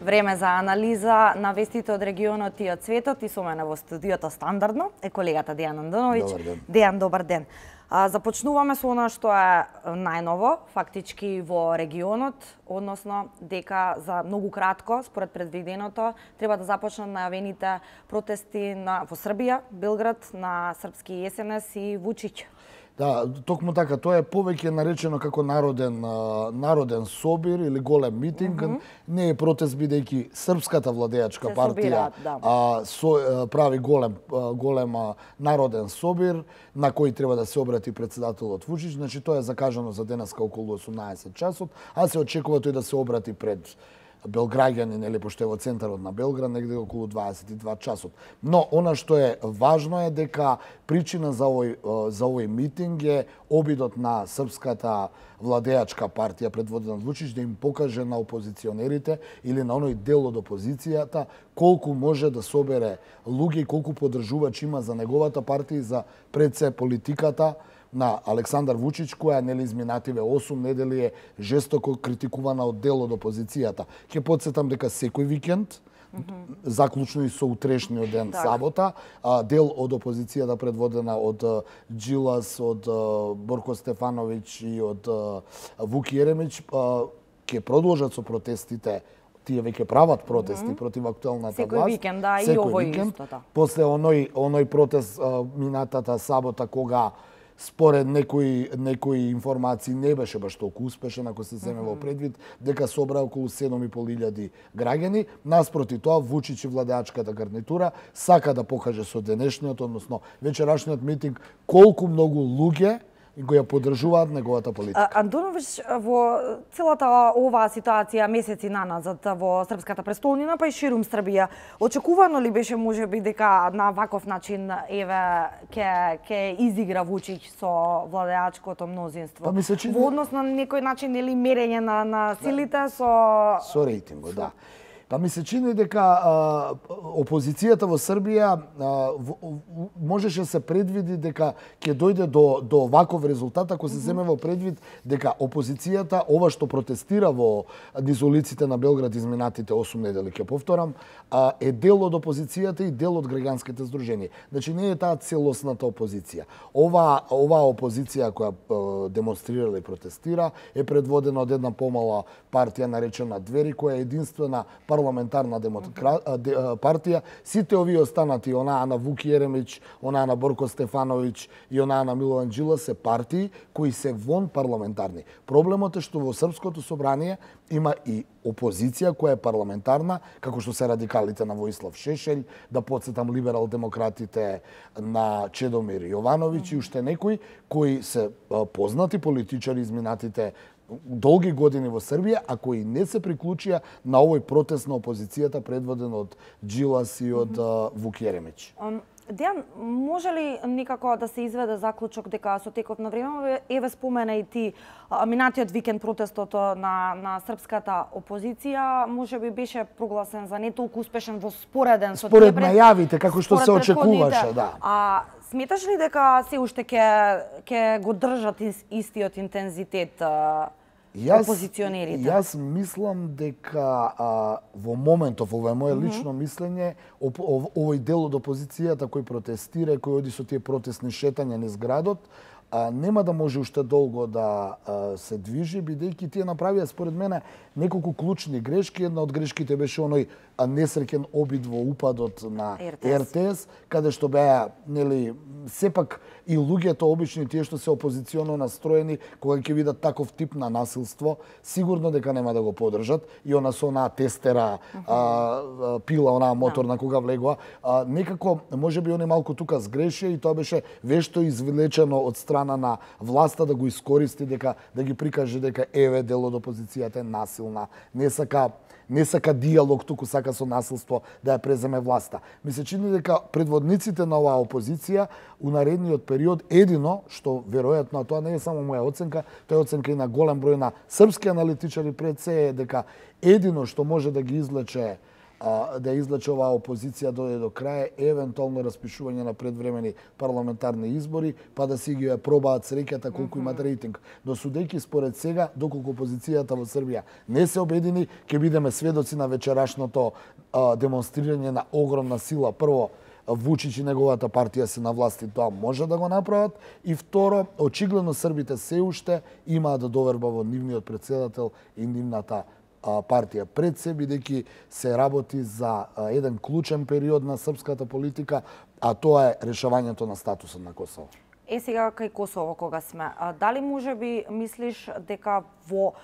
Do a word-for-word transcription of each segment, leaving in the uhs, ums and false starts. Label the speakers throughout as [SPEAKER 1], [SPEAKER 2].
[SPEAKER 1] Време за анализа на вестите од регионот и од светот и со мене во студиото стандардно е колегата Дејан Андоновиќ.
[SPEAKER 2] Добар ден.
[SPEAKER 1] Дејан, добар ден. А, започнуваме со она што е најново, фактички во регионот, односно дека за многу кратко, според предвиденото, треба да започнат најавените протести на, во Србија, Белград, на српски ес ен ес и Вучиќ.
[SPEAKER 2] Да, токму така, тоа е повеќе наречено како народен народен собир или голем митинг. Mm -hmm. Не е протест бидејќи српската владеачка
[SPEAKER 1] Се
[SPEAKER 2] партија
[SPEAKER 1] собираат, да.
[SPEAKER 2] а, со, прави голем голем народен собир на кој треба да се обрати председателот Вучиќ. Значи тоа е закажано за денеска околу осумнаесет часот, а се очекува тој да се обрати пред белграѓани, нели, пошто е во центарот на Белград, негде околу дваесет и два часот. Но она што е важно е дека причина за овој за овој митинг е обидот на српската владеачка партија предводена од Вучиќ да им покаже на опозиционерите или на оној дел од опозицијата колку може да собере луѓе и колку поддржувачи има за неговата партија и за пред се политиката на Александар Вучиќ, која нели изминативе осум недели е жестоко критикувана од дел од опозицијата. Ќе потсетам дека секој викенд, mm -hmm. заклучно и со утрешниот ден, так. сабота, дел од опозицијата предводена од Джилас, од Борко Стефановиќ и од Вук Јеремиќ ќе продолжат со протестите. Тие веќе прават протести mm -hmm. против актуелната
[SPEAKER 1] Секој
[SPEAKER 2] власт.
[SPEAKER 1] викенд, да, и
[SPEAKER 2] Секој
[SPEAKER 1] овој
[SPEAKER 2] викенд,
[SPEAKER 1] исто, да.
[SPEAKER 2] После оној оној протест минатата сабота кога според некои некои информации не беше баш толку успешен, ако се земе во предвид дека собра околу седум и пол илјади граѓани. Наспроти тоа, Вучиќ и владеачката гарнитура сака да покаже со денешниот, односно вечерашниот митинг, колку многу луѓе го ја поддржуваат неговата политика.
[SPEAKER 1] Андоновиќ, во целата оваа ситуација месеци наназад во српската престолнина, па и ширум Србија, очекувано ли беше можеби дека на ваков начин еве ќе ќе изигра Вучиќ со владеачкото мнозинство?
[SPEAKER 2] Па ми се чини...
[SPEAKER 1] Во однос на некој начин или мерење на на силите со
[SPEAKER 2] со рейтингот, да. Па ми се чини дека а, опозицијата во Србија а, в, можеше да се предвиди дека ќе дојде до до ваков резултат ако се земе во предвид дека опозицијата, ова што протестира во низ улиците на Белград изминатите осум недели, ќе повторам, а, е дел од опозицијата и дел од граѓанските здруженија. Значи не е таа целосната опозиција. Ова оваа опозиција која а, демонстрира и протестира е предводена од една помала партија наречена Двери, која е единствена парламентарна демокра... партија. Сите овие останати, онаа на Вук Јеремиќ, онаа на Борко Стефановиќ и онаа на Милован Джилас се партии кои се вон парламентарни. Проблемот е што во Српското собрание има и опозиција која е парламентарна, како што се радикалите на Воислав Шешелј, да подсетам либерал-демократите на Чедомир Јовановиќ и уште некои кои се познати политичари изминатите долги години во Србија, а кои не се приклучија на овој протест на опозицијата предводен од Джилас и од mm -hmm. Вук Јеремиќ.
[SPEAKER 1] Um... Дејан, може ли никако да се изведе заклучок дека со текот на време, еве спомена и ти минатиот викенд протестот на на српската опозиција, може би беше прогласен за не толку успешен во спореден со
[SPEAKER 2] според најавите како што се очекуваше, да.
[SPEAKER 1] А сметаш ли дека се уште ќе ќе го држат истиот интензитет
[SPEAKER 2] Јас,
[SPEAKER 1] опозиционерите?
[SPEAKER 2] Јас мислам дека а, во моментов, ова е моје лично mm -hmm. мислење, оп, ов, овој дел од опозицијата кој протестира, кој оди со тие протестни шетања низ градот, а, нема да може уште долго да а, се движи, бидејќи тие направија според мене неколку клучни грешки. Една од грешките беше оној несреќен обид во упадот на Р Т С, каде што беа, нели, сепак и луѓето обични, тие што се опозиционо настроени, кога ќе видат таков тип на насилство, сигурно дека нема да го поддржат. И она со онаа тестера, uh -huh. а, пила, онаа моторна, кога влегоа, а, некако, можеби они малку тука сгрешија и тоа беше вешто извлечено од страна на власта да го искористи, дека да ги прикаже дека еве дел од опозицијата е насилна, не сака не сака диалог, туку сака со насилство да ја преземе власта. Ми се чини дека предводниците на оваа опозиција у наредниот период едино што веројатно, тоа не е само моја оценка, тоа е оценка и на голем број на српски аналитичари пред се, е дека едино што може да ги извлече а, да излече оваа опозиција дојде до крај, евентуално распишување на предвремени парламентарни избори, па да си ги ја пробаат среќата колку имат рейтинг. Но судејќи според сега, доколку опозицијата во Србија не се обедини, ќе бидеме сведоци на вечерашното а, демонстрирање на огромна сила. Прво, Вучич и неговата партија се на власти, тоа може да го направат. И второ, очигледно србите се уште имаат да доверба во нивниот претседател и нивната а, партија пред се, бидејќи се работи за а, еден клучен период на српската политика, а тоа е решавањето на статусот на Косово.
[SPEAKER 1] Е, сега кај Косово кога сме, а, дали може би мислиш дека во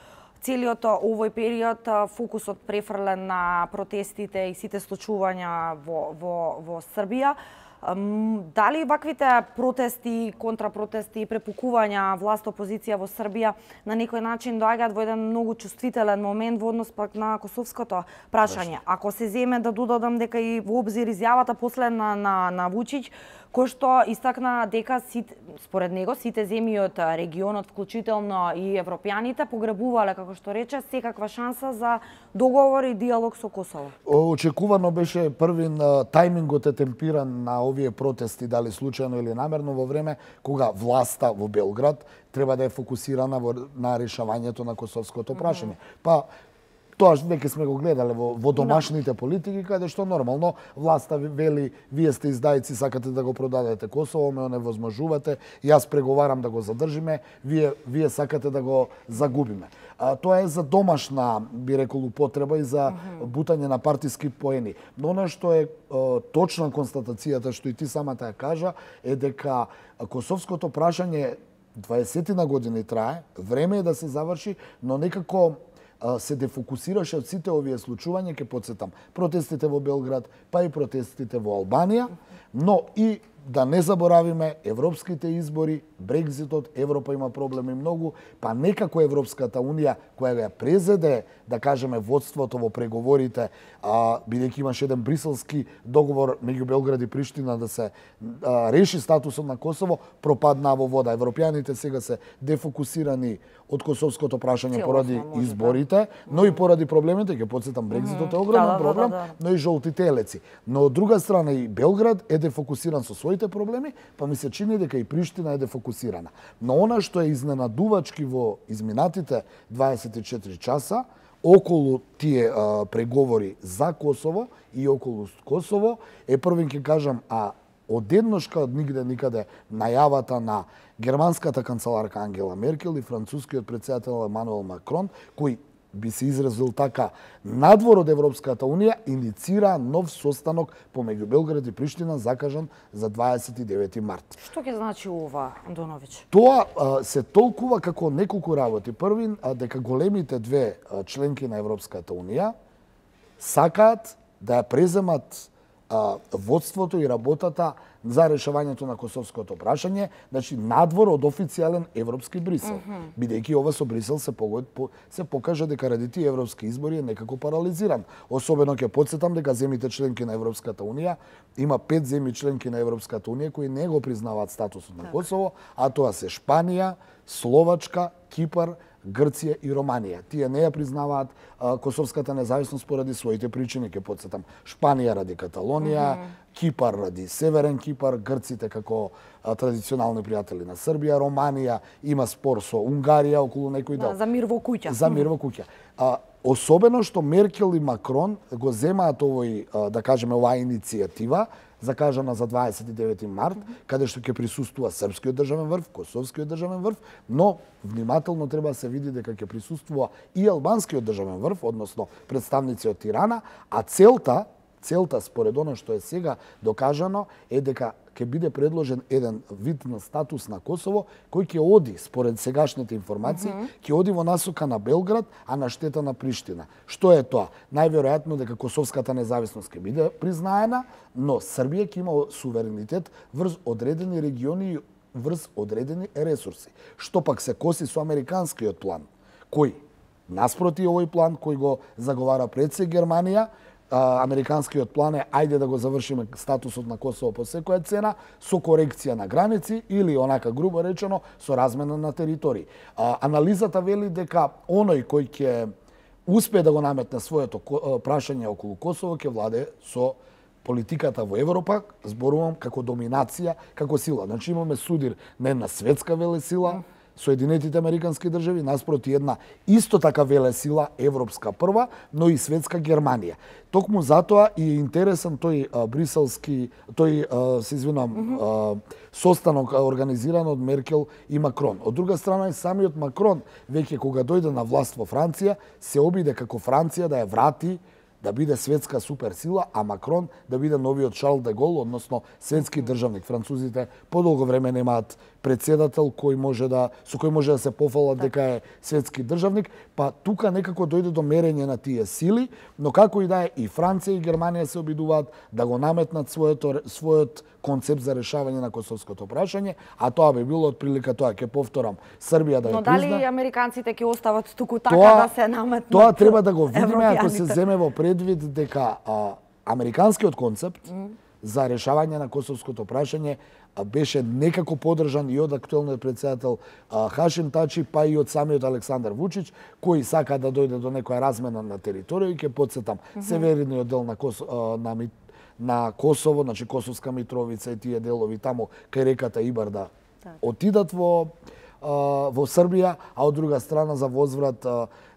[SPEAKER 1] целиот овој период фокусот префрлен на протестите и сите случувања во, во, во Србија? Дали ваквите протести, контрапротести и препукувања власт-опозиција во Србија на некој начин доаѓаат во еден многу чувствителен момент во однос пак на косовското прашање? Ако се земе да додадам дека и во обзир изјавата последна на, на Вучич, кој што истакна дека сите, според него сите земји од регионот, вклучително и европјаните, погребувале, како што рече, секаква шанса за договор и диалог со Косово.
[SPEAKER 2] Очекувано беше првин тајмингот е темпиран на овие протести, дали случајно или намерно, во време кога власта во Белград треба да е фокусирана во, на решавањето на косовското прашање. Mm -hmm. Па тоа веќе сме го гледале во, во домашните политики, каде што нормално власта вели, вие сте издајци, сакате да го продадете Косово, ме оневозможувате, јас преговарам да го задржиме, вие, вие сакате да го загубиме. А, тоа е за домашна, би рекол, употреба и за бутање на партиски поени. Но она што е, е точна констатацијата, што и ти самата ја кажа, е дека косовското прашање дваесетина години трае, време е да се заврши, но некако се дефокусираше од сите овие случувања, ќе потсетам, протестите во Белград, па и протестите во Албанија, но и да не заборавиме европските избори, Брекзитот, Европа има проблеми многу, па некако Европската Унија, која ја презеде, да кажеме, водството во преговорите, а, бидејќи имаше еден бриселски договор меѓу Белград и Приштина да се а, реши статусот на Косово, пропадна во вода. Европјаните сега се дефокусирани од косовското прашање поради изборите, но и поради проблемите, ќе потсетам, Брекзитот е огромен проблем, но и жолтите елеци. Но од друга страна и Белград е дефокусиран со своите проблеми, па ми се чини дека и Приштина е дефокусирана. Но она што е изненадувачки во изминатите дваесет и четири часа, околу тие а, преговори за Косово и околу Косово, е првен ќе кажам, а одедношка од нигде никаде најавата на германската канцеларка Ангела Меркел и францускиот претседател Емануел Макрон, кој би се изразил така, надвор од Европската Унија, иницира нов состанок помеѓу Белград и Приштина, закажан за дваесет и девети март.
[SPEAKER 1] Што ќе значи ова, Антоновиќ?
[SPEAKER 2] Тоа а, се толкува како неколку работи. Првин, а, дека големите две а, членки на Европската Унија сакаат да ја преземат а, водството и работата за решавањето на косовското прашање, значи надвор од официјален европски Брисел. Mm -hmm. Бидејќи ова со Брисел се, погод, по, се покажа дека ради тие европски избори е некако парализиран. Особено ќе потсетам дека земите членки на Европската Унија, има пет земји членки на Европската Унија кои не го признаваат статусот на Косово, а тоа се Шпанија, Словачка, Кипар, Грција и Романија. Тие не ја признаваат а, косовската независност поради своите причини, ќе потсетам. Шпанија ради Каталонија, mm -hmm. Кипар ради Северен Кипар, Грците како а, традиционални пријатели на Србија, Романија има спор со Унгарија околу некој дел.
[SPEAKER 1] Да, за мир во куќа.
[SPEAKER 2] За мир во куќа. А, особено што Меркел и Макрон го земаат овој, а, да кажеме, оваа иницијатива, закажана за дваесет и девети март, mm -hmm. каде што ќе присуствува српскиот државен врв, косовскиот државен врв, но внимателно треба да се види дека ќе присуствува и албанскиот државен врв, односно представници од Тирана, а целта, целта според оно што е сега докажано е дека ќе биде предложен еден вид на статус на Косово кој ќе оди, според сегашните информации, mm -hmm. ќе оди во насока на Белград, а на штета на Приштина. Што е тоа? Најверојатно дека косовската независност ќе биде признаена, но Србија ќе има суверенитет врз одредени региони и врз одредени ресурси. Што пак се коси со американскиот план, кој наспроти овој план кој го заговара пред се Германија, американскиот план е ајде да го завршиме статусот на Косово по секоја цена, со корекција на граници или, онака грубо речено, со размена на територии. А, анализата вели дека оној кој ќе успее да го наметне своето прашање околу Косово, ќе владе со политиката во Европа, зборувам како доминација, како сила. Значи имаме судир на една светска велесила, Соединетите Американски држави, наспроти една исто така велесила, европска прва, но и светска Германија. Токму затоа и е интересен тој а, бриселски, тој, а, се извинам, mm -hmm. а, состанок организиран од Меркел и Макрон. Од друга страна и самиот Макрон, веќе кога дојде на власт во Франција, се обиде како Франција да ја врати, да биде светска суперсила, а Макрон да биде новиот Шарл де Гол, односно светски државник. Французите подолго време немаат председател кој може да со кој може да се пофалат дека е светски државник, па тука некако дојде до мерење на тие сили, но како и да е, и Франција и Германија се обидуваат да го наметнат своето својот концепт за решавање на косовското прашање, а тоа би било отприлика тоа, ќе повторам, Србија да ја
[SPEAKER 1] призна. Но дали американците ќе остават туку така
[SPEAKER 2] тоа,
[SPEAKER 1] да се наметнат?
[SPEAKER 2] Тоа треба да го видиме ако се земе во предвид дека а, американскиот концепт mm. за решавање на косовското прашање беше некако поддржан и од актуелниот председател Хашим Тачи, па и од самиот Александар Вучич, кој сака да дојде до некоја размена на територија и ќе потсетам mm -hmm. северниот дел на, Кос, на, на Косово, значи Косовска Митровица и тие делови таму кај реката Ибар да так. отидат во, во Србија, а од друга страна за возврат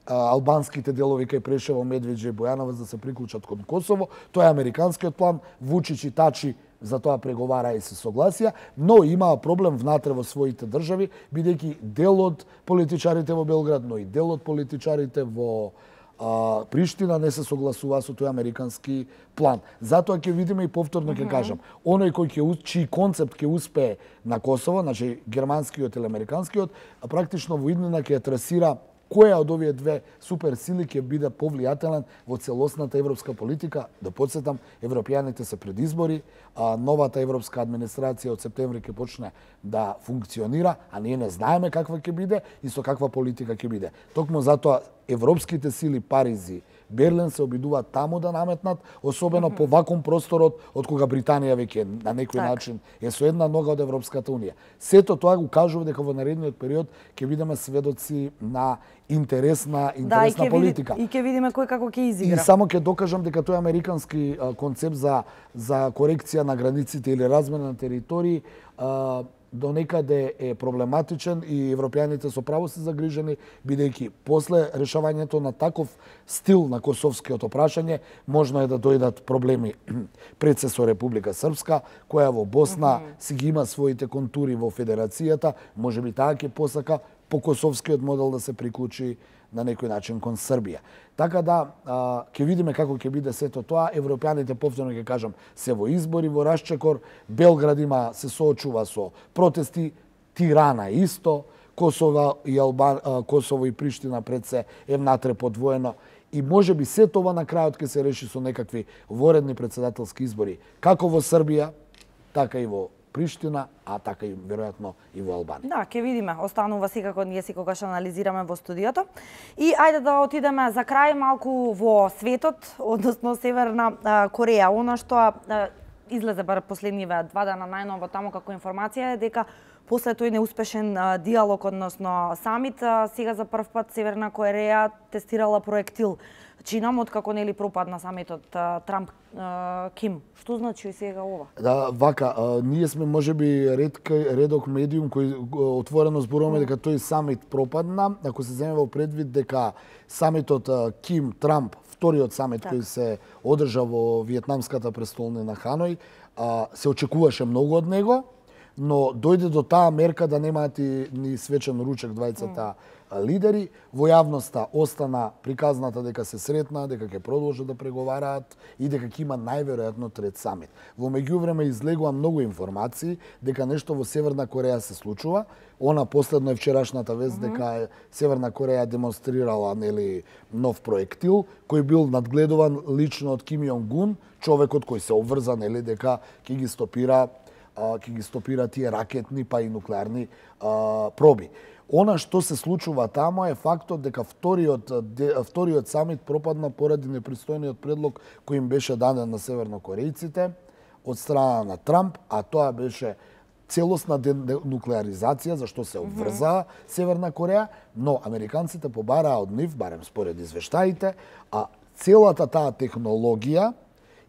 [SPEAKER 2] албанските делови кај Прешево, Медвеđа и Бојановаc да се приклучат кон Косово. Тоа е американскиот план. Вучич и Тачи за тоа преговара и се согласија, но имаа проблем внатре во своите држави, бидејќи дел од политичарите во Белград, но и дел од политичарите во а, Приштина не се согласува со тој американски план. Затоа ќе видиме и повторно ќе кажам, оној кој ќе чиј концепт ќе успее на Косово, значи германскиот или американскиот, а практично во иднина ќе трасира која од овие две суперсили ќе биде повлијателен во целосната европска политика. Да подсетам, европјаните се пред избори, а новата европска администрација од септември ќе почне да функционира, а ние не знаеме каква ќе биде и со каква политика ќе биде. Токму затоа европските сили Париз и Берлин се обидуваат таму да наметнат, особено mm -hmm. по вакуум просторот од кога Британија веќе на некој так. начин е со една нога од Европската унија. Сето тоа го кажува дека во наредниот период ќе бидеме сведоци на интересна интересна
[SPEAKER 1] да,
[SPEAKER 2] политика.
[SPEAKER 1] И ќе видиме кој како ќе изигра.
[SPEAKER 2] И само ќе докажам дека тој американски а, концепт за за корекција на границите или размена на територии а, до некаде е проблематичен и европјаните со право се загрижени, бидејќи после решавањето на таков стил на косовскиот прашање можно е да дојдат проблеми пред се со Република Српска, која во Босна mm -hmm. си ги има своите контури во федерацијата, можеби таа ќе посака по косовскиот модел да се приклучи на некој начин кон Србија. Така да, а, ќе видиме како ќе биде сето тоа. Европјаните, повторно ќе кажам, се во избори, во расчекор. Белград има се соочува со протести, Тирана исто, Косово и Албан, а, Косово и Приштина пред се е внатре подвоено. И може би се тоа на крајот ќе се реши со некакви воредни председателски избори, како во Србија, така и во Приштина, а така и веројатно и во Албанија.
[SPEAKER 1] Да, ќе видиме. Останува секако ние секогаш анализираме во студиото. И ајде да отидеме за крај малку во светот, односно Северна а, Кореја. Она што а, излезе бар последниве два дена најново таму како информација е дека после тој неуспешен а, диалог, односно самит, а, сега за прв пат Северна Кореја тестирала проектил чинам откако нели пропадна самитот Трамп Ким. Што значи сега ова?
[SPEAKER 2] Да, вака, а, ние сме можеби редка редок медиум кој отворено зборуваме дека тој самит пропадна, ако се земе во предвид дека самитот Ким Трамп, вториот самит так. кој се одржа во виетнамската престолнина Ханој, а, се очекуваше многу од него, но дојде до таа мерка да немаат и ни свечен ручек двајцата mm. лидери. Во јавноста остана приказната дека се сретна, дека ќе продолжат да преговараат и дека ќе има најверојатно трет самит. Во меѓувреме излегува многу информации дека нешто во Северна Кореја се случува. Она последно е вчерашната вест mm -hmm. дека Северна Кореја демонстрирала нели нов проектил кој бил надгледуван лично од Ким Јонг Ун, човекот кој се обврза нели дека ќе ги стопира ќе ги стопира тие ракетни па и нуклеарни а, проби. Она што се случува таму е фактот дека вториот, де, вториот самит пропадна поради непристојниот предлог кој им беше даден на севернокорејците од страна на Трамп, а тоа беше целосна денуклеаризација, за што се обврза Северна Кореја, но американците побараа од нив, барем според извештаите, а целата таа технологија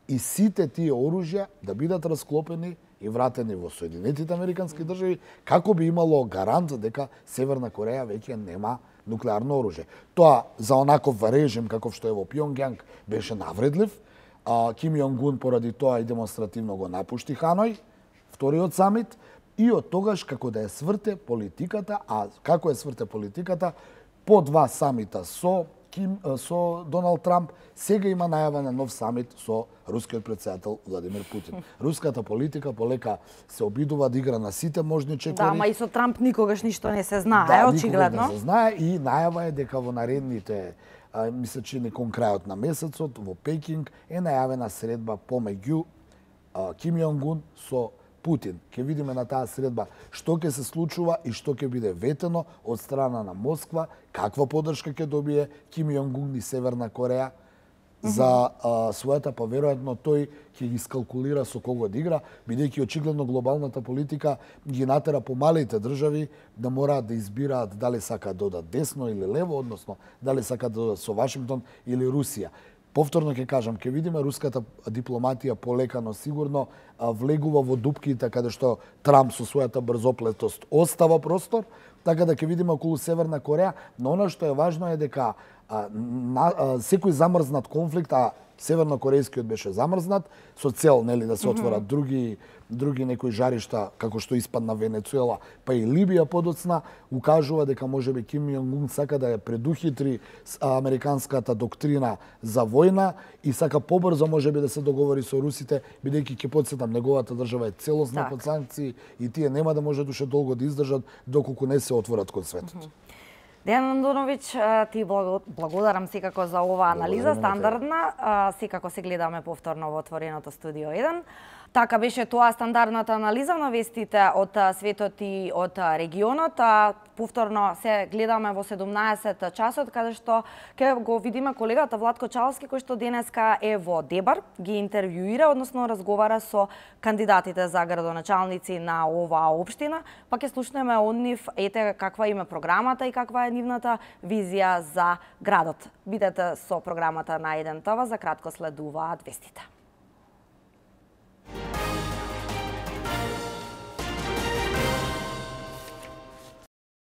[SPEAKER 2] и сите тие оружја да бидат расклопени и вратени во Соединетите Американски држави, како би имало гарант дека Северна Кореја веќе нема нуклеарно оружје. Тоа за онаков режим каков што е во Пјонгјанг беше навредлив. А, Ким Јонг-ун поради тоа и демонстративно го напушти Ханој, вториот самит, и од тогаш како да е сврте политиката, а како е сврте политиката, по два самита со Ким, со Доналд Трамп, сега има најава на нов самит со рускиот претседател Владимир Путин. Руската политика полека се обидува да игра на сите можни чекори.
[SPEAKER 1] Да, ма и со Трамп никогаш ништо не се знае,
[SPEAKER 2] да,
[SPEAKER 1] очигледно.
[SPEAKER 2] Не се знае и најава е дека во наредните, а, ми се чини кон крајот на месецот, во Пекинг е најавена средба помеѓу а, Ким Јонг-ун со Путин. Ке видиме на таа средба што ќе се случува и што ќе биде ветено од страна на Москва, каква поддршка ќе добие Ким Јонг-ун и Северна Кореја за а, својата, па веројатно тој ќе ги скалкулира со кого да игра, бидејќи очигледно глобалната политика ги натера помалите држави да мораат да избираат дали сакаат да одат десно или лево, односно дали сакаат да одат со Вашингтон или Русија. Повторно ќе кажам, ќе видиме руската дипломатија полека, но сигурно влегува во дупките каде што Трамп со својата брзоплетост остава простор, така да ќе видиме околу Северна Кореја, но она што е важно е дека а, на, а, секој замрзнат конфликт, а севернокорејскиот беше замрзнат со цел, нели, да се отворат mm -hmm. други други некои жаришта како што испадна Венецуела, па и Либија подоцна, укажува дека можеби Ким Јонг-ун сака да ја предухитри американската доктрина за војна и сака побрзо можеби да се договори со русите, бидејќи ќе потсетам неговата држава е целосно
[SPEAKER 1] так.
[SPEAKER 2] под санкции и тие нема да можат уште долго да издржат доколку не се отворат кон светот. Mm -hmm.
[SPEAKER 1] Дејан Андоновиќ, ти благодарам секако за оваа анализа стандардна. Секако се гледаме повторно во отвореното студио еден. Така беше тоа стандардната анализа на вестите од светот и од регионот. Повторно се гледаме во седумнаесет часот, каде што ќе го видиме колегата Владко Чалски, кој што денеска е во Дебар, ги интервјуира, односно разговара со кандидатите за градоначалници на оваа општина, па ќе слушнеме од нив ете каква им е програмата и каква е нивната визија за градот. Бидете со програмата на еден ТВ, за кратко следуваат вестите.